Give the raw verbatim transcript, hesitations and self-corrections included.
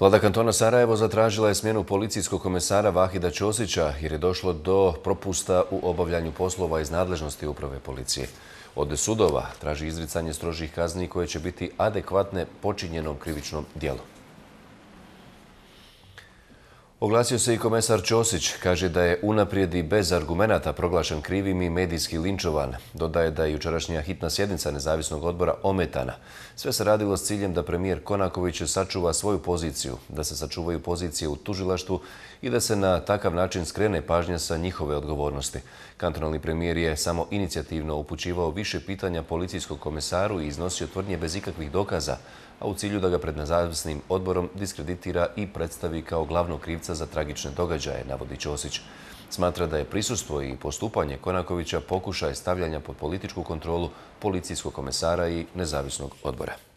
Vlada kantona Sarajevo zatražila je smjenu policijskog komesara Vahida Ćosića jer je došlo do propusta u obavljanju poslova iz nadležnosti uprave policije. Od sudova traži izricanje strožih kazni koje će biti adekvatne počinjenom krivičnom djelu. Oglasio se i komesar Ćosić, kaže da je unaprijed i bez argumenata proglašen krivim i medijski linčovan. Dodaje da je jučerašnja hitna sjednica nezavisnog odbora ometana. Sve se radilo s ciljem da premijer Konaković sačuva svoju poziciju, da se sačuvaju pozicije u tužilaštvu i da se na takav način skrene pažnja sa njihove odgovornosti. Kantonalni premijer je samo inicijativno upućivao više pitanja policijskog komesaru i iznosio tvrdnje bez ikakvih dokaza, a u cilju da ga pred nezavisnim odborom diskreditira i predstavi kao glavnog krivca za tragične događaje, navodi Ćosić. Smatra da je prisustvo i postupanje Konakovića pokušaj stavljanja pod političku kontrolu policijskog komesara i nezavisnog odbora.